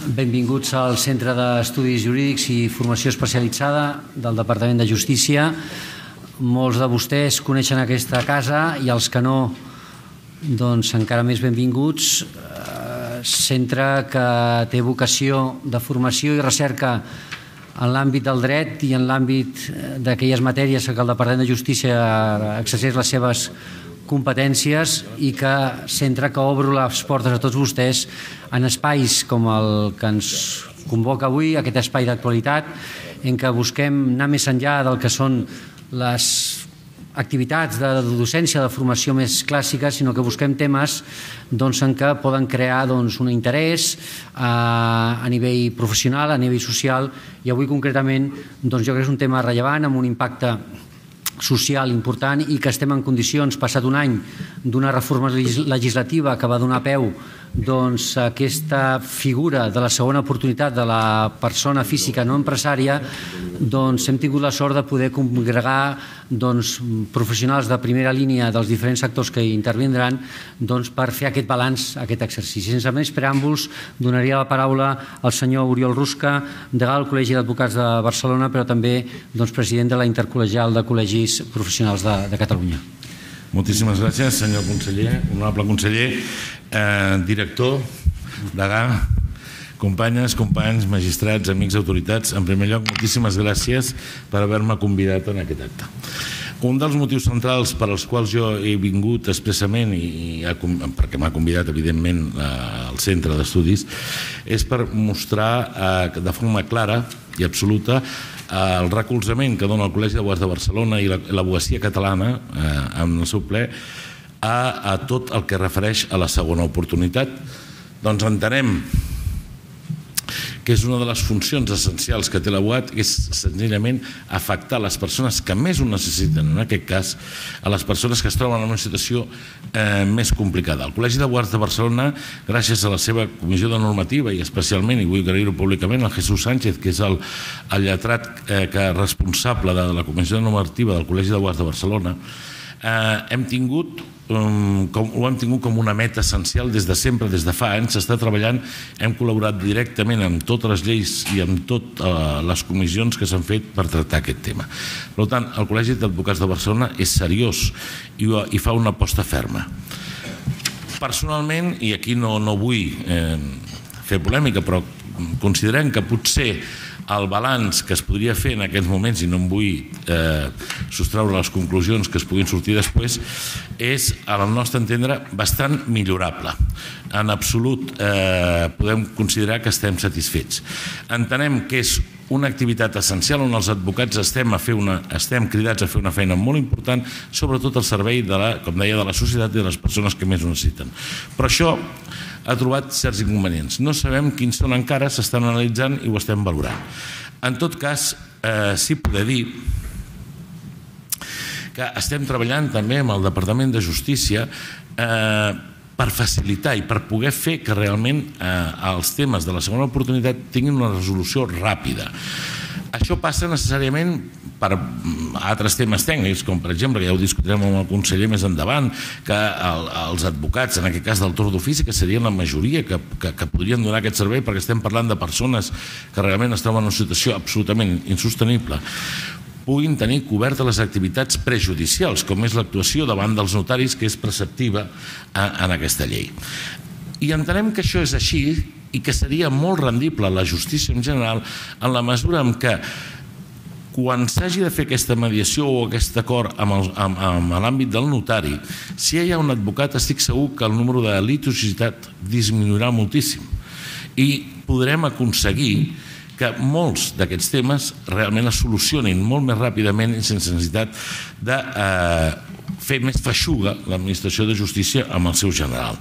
Benvinguts al Centre d'Estudis Jurídics i Formació Especialitzada del Departament de Justícia. Molts de vostès coneixen aquesta casa i els que no, doncs encara més benvinguts. Centre que té vocació de formació i recerca en l'àmbit del dret i en l'àmbit d'aquelles matèries que el Departament de Justícia exerceix les seves competències i que centre que obro les portes a tots vostès en espais com el que ens convoca avui, aquest espai d'actualitat, en què busquem anar més enllà del que són les activitats de docència, de formació més clàssiques, sinó que busquem temes en què poden crear un interès a nivell professional, a nivell social, i avui concretament jo crec que és un tema rellevant amb un impacte social important i que estem en condicions, passat un any d'una reforma legislativa que va donar peu a aquesta figura de la segona oportunitat de la persona física no empresària, hem tingut la sort de poder congregar professionals de primera línia dels diferents sectors que intervindran per fer aquest balanç, aquest exercici. Sense més preàmbuls, donaria la paraula al senyor Oriol Rusca, degà del Col·legi d'Advocats de Barcelona, però també president de la Intercol·legial de Col·legis Professionals de Catalunya. Moltíssimes gràcies, senyor conseller, honorable conseller, director, degà, companyes, companys, magistrats, amics, autoritats. En primer lloc, moltíssimes gràcies per haver-me convidat en aquest acte. Un dels motius centrals per als quals jo he vingut expressament, i perquè m'ha convidat evidentment al Centre d'Estudis, és per mostrar de forma clara i absoluta el recolzament que dona el Col·legi d'Advocats de Barcelona i l'advocacia catalana en el seu ple a tot el que refereix a la segona oportunitat. Doncs entenem que és una de les funcions essencials que té l'abogat, que és senzillament afectar les persones que més ho necessiten, en aquest cas a les persones que es troben en una situació més complicada. El Col·legi d'Advocats de Barcelona, gràcies a la seva comissió de normativa i especialment, i vull agrair-ho públicament, el Jesús Sánchez, que és el lletrat responsable de la comissió de normativa del Col·legi d'Advocats de Barcelona, ho hem tingut com una meta essencial des de sempre, des de fa anys. S'està treballant, hem col·laborat directament amb totes les lleis i amb totes les comissions que s'han fet per tractar aquest tema. Per tant, el Col·legi d'Advocats de Barcelona és seriós i fa una aposta ferma. Personalment, i aquí no vull fer polèmica, però considerem que potser el balanç que es podria fer en aquests moments, i no em vull sostreure les conclusions que es puguin sortir després, és, al nostre entendre, bastant millorable. En absolut podem considerar que estem satisfets. Entenem que és una activitat essencial on els advocats estem cridats a fer una feina molt important, sobretot al servei, com deia, de la societat i de les persones que més ho necessiten. Però això ha trobat certs inconvenients. No sabem quins són encara, s'estan analitzant i ho estem valorant. En tot cas, sí poder dir que estem treballant també amb el Departament de Justícia per facilitar i per poder fer que realment els temes de la segona oportunitat tinguin una resolució ràpida. Això passa necessàriament per altres temes tècnics, com per exemple, que ja ho discutirem amb el conseller més endavant, que els advocats, en aquest cas del torn d'ofici, que serien la majoria que podrien donar aquest servei, perquè estem parlant de persones que realment es troben en una situació absolutament insostenible, puguin tenir cobertes les activitats prejudicials, com és l'actuació davant dels notaris, que és preceptiva en aquesta llei. I entenem que això és així i que seria molt rendible a la justícia en general en la mesura en què quan s'hagi de fer aquesta mediació o aquest acord amb l'àmbit del notari, si hi ha un advocat, estic segur que el número de litigiositat disminuirà moltíssim i podrem aconseguir que molts d'aquests temes realment es solucionin molt més ràpidament i sense necessitat de fer més feixuga l'administració de justícia amb el seu general.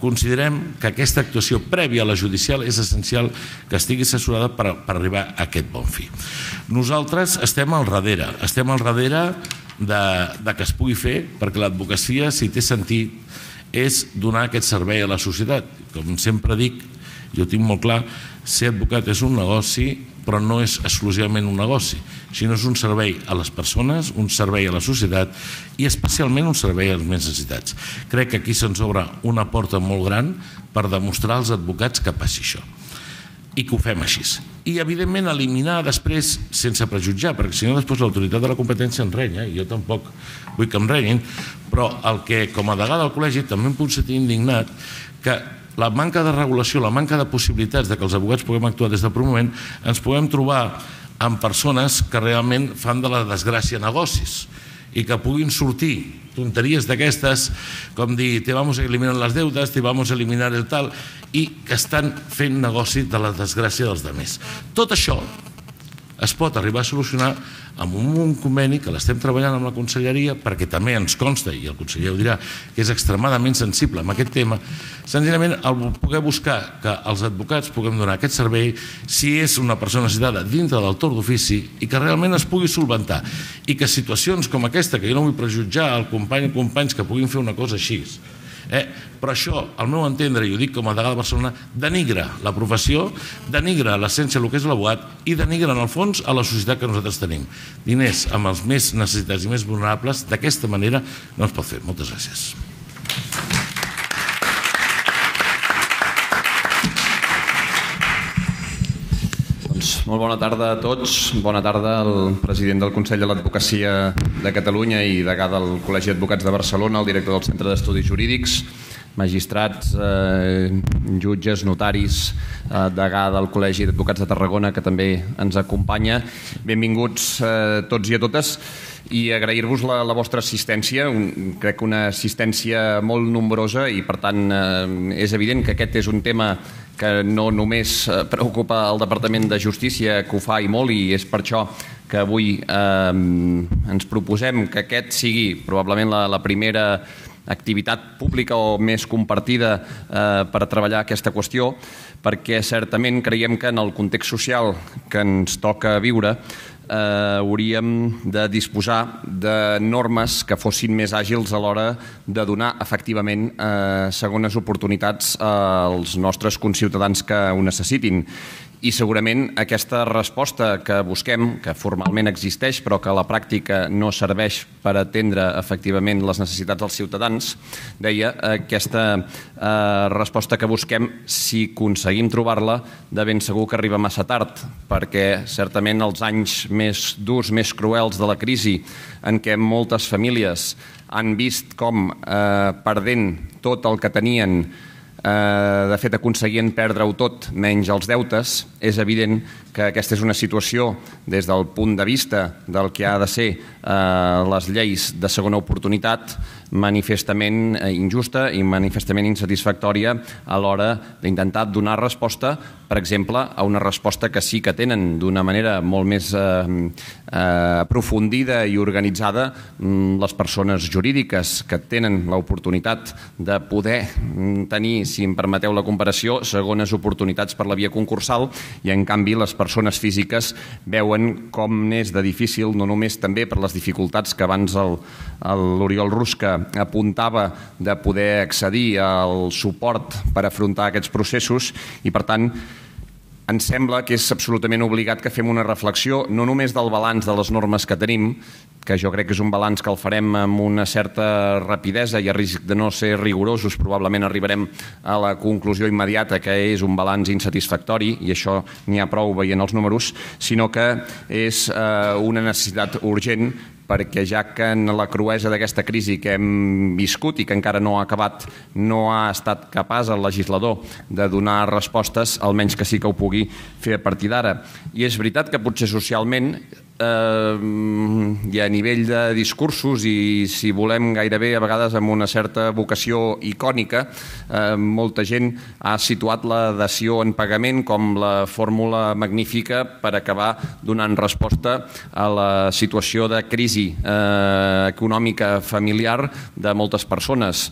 Considerem que aquesta actuació prèvia a la judicial és essencial que estigui assessorada per arribar a aquest bon fi. Nosaltres estem al darrere de que es pugui fer, perquè l'advocacia, si té sentit, és donar aquest servei a la societat. Com sempre dic, jo tinc molt clar, ser advocat és un negoci però no és exclusivament un negoci, sinó és un servei a les persones, un servei a la societat i especialment un servei als més necessitats. Crec que aquí se'ns obre una porta molt gran per demostrar als advocats que passi això i que ho fem així. I evidentment eliminar després sense prejutjar, perquè si no després l'autoritat de la competència ens renya, i jo tampoc vull que em renyin, però el que com a degà del col·legi també em puc sentir indignat que la manca de regulació, la manca de possibilitats de que els advocats puguem actuar des del primer moment, ens puguem trobar amb persones que realment fan de la desgràcia negocis i que puguin sortir tonteries d'aquestes com dir te vamos a eliminar les deudes, te vamos a eliminar el tal, i que estan fent negoci de la desgràcia dels altres. Tot això es pot arribar a solucionar amb un conveni que l'estem treballant amb la Conselleria, perquè també ens consta, i el conseller ho dirà, que és extremadament sensible amb aquest tema, senzillament el poder buscar que els advocats puguem donar aquest servei si és una persona necessitada dintre del torn d'ofici i que realment es pugui solventar, i que situacions com aquesta, que jo no vull prejutjar al company o companys que puguin fer una cosa així, però això, al meu entendre, i ho dic com a degà de Barcelona, denigra la professió, denigra l'essència del que és l'abogat i denigra en el fons a la societat que nosaltres tenim. Diners amb els més necessitats i més vulnerables, d'aquesta manera no es pot fer. Moltes gràcies. Molt bona tarda a tots. Bona tarda al president del Consell de l'Advocacia de Catalunya i degà del Col·legi d'Advocats de Barcelona, el director del Centre d'Estudis Jurídics, magistrats, jutges, notaris, degà del Col·legi d'Advocats de Tarragona, que també ens acompanya. Benvinguts tots i a totes i agrair-vos la vostra assistència. Crec que una assistència molt nombrosa i, per tant, és evident que aquest és un tema que no només preocupa el Departament de Justícia, que ho fa i molt, i és per això que avui ens proposem que aquest sigui probablement la primera activitat pública o més compartida per treballar aquesta qüestió, perquè certament creiem que en el context social que ens toca viure hauríem de disposar de normes que fossin més àgils a l'hora de donar efectivament segones oportunitats als nostres conciutadans que ho necessitin. I segurament aquesta resposta que busquem, que formalment existeix però que a la pràctica no serveix per atendre efectivament les necessitats dels ciutadans, deia, aquesta resposta que busquem, si aconseguim trobar-la, de ben segur que arriba massa tard, perquè certament els anys més durs, més cruels de la crisi, en què moltes famílies han vist com perdent tot el que tenien, de fet aconseguien perdre-ho tot menys els deutes, és evident que aquesta és una situació des del punt de vista del que ha de ser les lleis de segona oportunitat manifestament injusta i manifestament insatisfactòria a l'hora d'intentar donar resposta, per exemple, a una resposta que sí que tenen d'una manera molt més aprofundida i organitzada les persones jurídiques que tenen l'oportunitat de poder tenir, si em permeteu la comparació, segones oportunitats per la via concursal, i en canvi les persones físiques veuen com n'és de difícil, no només també per les dificultats que abans l'Oriol Rusca apuntava de poder accedir al suport per afrontar aquests processos, i per tant ens sembla que és absolutament obligat que fem una reflexió no només del balanç de les normes que tenim, que jo crec que és un balanç que el farem amb una certa rapidesa i a risc de no ser rigorosos probablement arribarem a la conclusió immediata que és un balanç insatisfactori, i això n'hi ha prou veient els números, sinó que és una necessitat urgent, perquè ja que en la cruesa d'aquesta crisi que hem viscut i que encara no ha acabat no ha estat capaç el legislador de donar respostes, almenys que sí que ho pugui fer a partir d'ara. I és veritat que potser socialment i a nivell de discursos, i si volem gairebé a vegades amb una certa vocació icònica, molta gent ha situat la dació en pagament com la fórmula magnífica per acabar donant resposta a la situació de crisi econòmica familiar de moltes persones.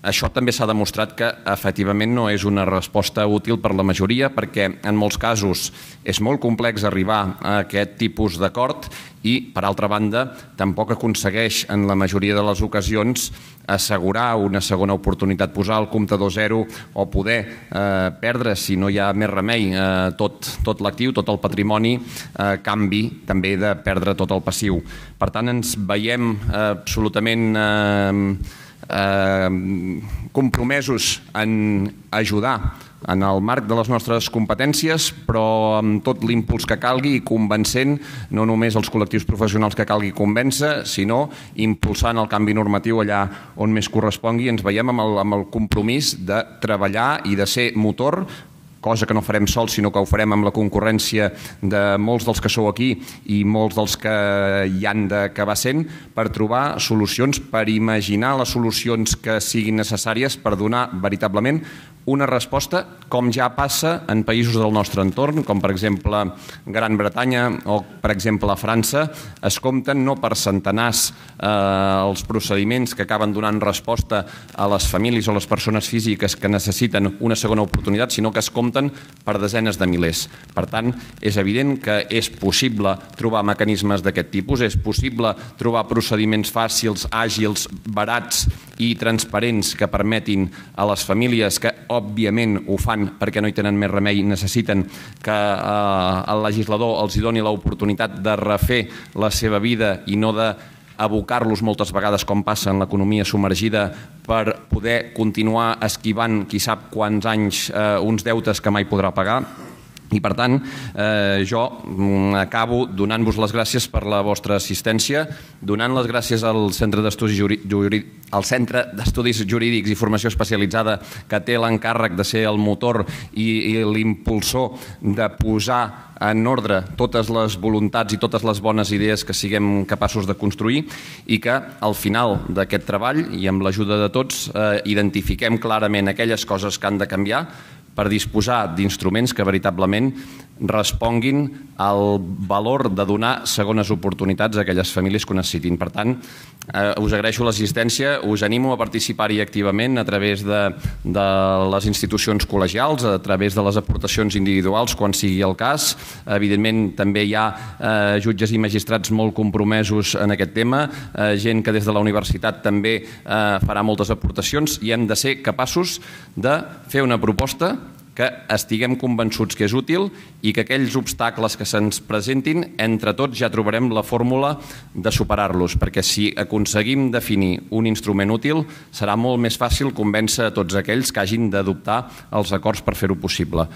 Això també s'ha demostrat que efectivament no és una resposta útil per la majoria, perquè en molts casos és molt complex arribar a aquest tipus d'acord i, per altra banda, tampoc aconsegueix en la majoria de les ocasions assegurar una segona oportunitat, posar el comptador zero o poder perdre, si no hi ha més remei, tot l'actiu, tot el patrimoni, a canvi també de perdre tot el passiu. Per tant, ens veiem absolutament compromesos en ajudar en el marc de les nostres competències, però amb tot l'impuls que calgui i convencent no només els col·lectius professionals que calgui convèncer, sinó impulsant el canvi normatiu allà on més correspongui. Ens veiem amb el compromís de treballar i de ser motor, cosa que no farem sols, sinó que ho farem amb la concurrència de molts dels que sou aquí i molts dels que hi han d'acabar sent, per trobar solucions, per imaginar les solucions que siguin necessàries per donar veritablement una resposta com ja passa en països del nostre entorn, com per exemple Gran Bretanya o per exemple França. Es compten no per centenars els procediments que acaben donant resposta a les famílies o les persones físiques que necessiten una segona oportunitat, sinó que es compten per desenes de milers. Per tant, és evident que és possible trobar mecanismes d'aquest tipus, és possible trobar procediments fàcils, àgils, barats i transparents que permetin a les famílies que òbviament ho fan perquè no hi tenen més remei, necessiten que el legislador els doni l'oportunitat de refer la seva vida i no d'abocar-los moltes vegades, com passa en l'economia submergida, per poder continuar esquivant qui sap quants anys uns deutes que mai podrà pagar. I, per tant, jo acabo donant-vos les gràcies per la vostra assistència, donant les gràcies al Centre d'Estudis Jurídics i Formació Especialitzada, que té l'encàrrec de ser el motor i l'impulsor de posar en ordre totes les voluntats i totes les bones idees que siguem capaços de construir i que al final d'aquest treball i amb l'ajuda de tots identifiquem clarament aquelles coses que han de canviar per disposar d'instruments que veritablement responguin al valor de donar segones oportunitats a aquelles famílies que ho necessitin. Per tant, us agraeixo l'assistència, us animo a participar-hi activament a través de les institucions col·legials, a través de les aportacions individuals, quan sigui el cas. Evidentment, també hi ha jutges i magistrats molt compromesos en aquest tema, gent que des de la universitat també farà moltes aportacions i hem de ser capaços de fer una proposta que estiguem convençuts que és útil i que aquells obstacles que se'ns presentin, entre tots ja trobarem la fórmula de superar-los, perquè si aconseguim definir un instrument útil, serà molt més fàcil convèncer a tots aquells que hagin d'adoptar els acords per fer-ho possible.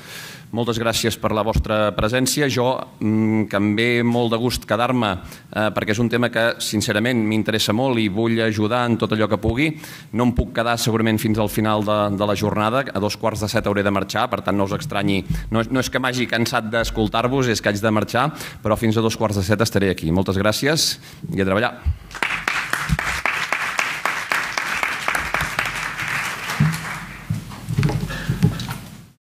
Moltes gràcies per la vostra presència. Jo, que em ve molt de gust quedar-me, perquè és un tema que, sincerament, m'interessa molt i vull ajudar en tot allò que pugui. No em puc quedar segurament fins al final de la jornada. A 2:45 hauré de marxar, per tant no us estranyi. No és que m'hagi cansat d'escoltar-vos, és que haig de marxar, però fins a 2:45 estaré aquí. Moltes gràcies i a treballar.